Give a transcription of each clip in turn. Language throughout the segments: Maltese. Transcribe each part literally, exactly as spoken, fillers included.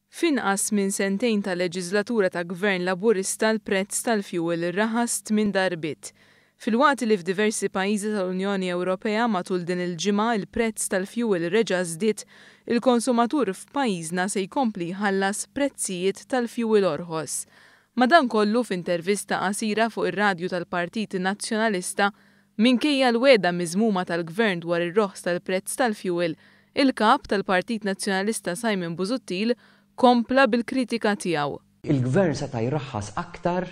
F'inqas minn sentejn ta' leġiżlatura ta' Gvern Laburista l-prezz tal-fjuwil raħas tmien darbiet. Filwaqt li f'diversi pajjiżi tal-Unjoni Ewropea matul din il-ġimgħa il-prezz tal-fjuwil reġa' żdied, il-konsumatur f'pajjiżna se jkompli jħallas prezzijiet tal-fjuwil orħos. Madankollu, f'intervista qasira fuq ir-radju tal-Partit Nazzjonalista, minkejja l-wegħda miżmuma tal-Gvern dwar ir-roħs tal-prezz tal-fjuwil, il-kap tal-Partit Nazzjonalista Simon Busuttil kompla bil-kritika tiegħu. Il-Gvern seta' jraħħas aktar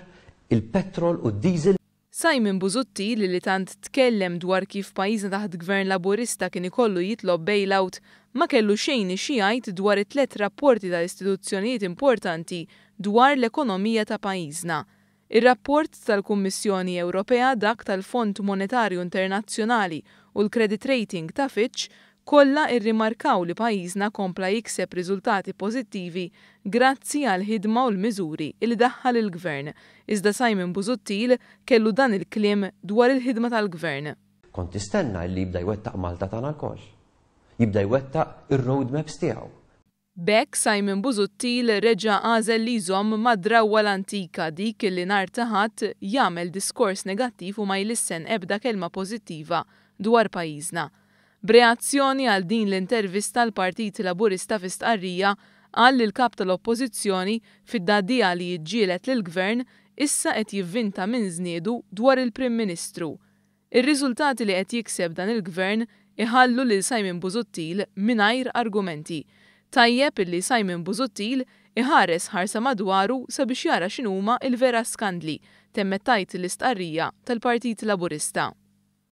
il-petrol u d-diesel. Simon Busuttil, li tant tkellem dwar kif pajjiżna taħt Gvern Laburista kien ikollu jitlob bailout, ma kellu xejn xi jgħid dwar it-tliet rapporti tal-istituzzjonijiet importanti dwar l-ekonomija ta' pajjiżna. Ir-rapport tal-Kummissjoni Ewropea, dak tal-Fond Monetarju Internazzjonali u l-credit rating ta' Fitch kollha irrimarkaw li pajjiżna kompla jikseb riżultati pożittivi grazzi għal ħidma u l-miżuri li daħħal il-Gvern. Iżda Simon Busuttil kellu dan il-kliem dwar il-ħidma tal-Gvern. Kont tistenna li jibda jwettaq Malta tagħna lkoll. Jibda jwettaq ir-roadmaps tiegħu. B'hekk Simon Busuttil reġa' għażel li jżomm mad-drawwa l-antika, dik li nhar ta' Ħadd jagħmel diskors negattiv u ma jlissen ebda kelma pożittiva dwar pajjiżna. B'reazzjoni għal din l-intervista, l-Partit Laburista fi stqarrija qal li l-kap tal-Oppożizzjoni, fid-dadija li jiġġieled lill-Gvern, issa qed jivvinta minn żniedu dwar il-Prim Ministru. Ir-riżultati li qed jikseb dan il-Gvern iħallu lil Simon Busuttil mingħajr argumenti. Tajjeb illi Simon Busuttil iħares ħarsa madwaru sabiex jara x'inhuma il-vera skandli, temmet tgħid l-istqarrija tal-Partit Laburista.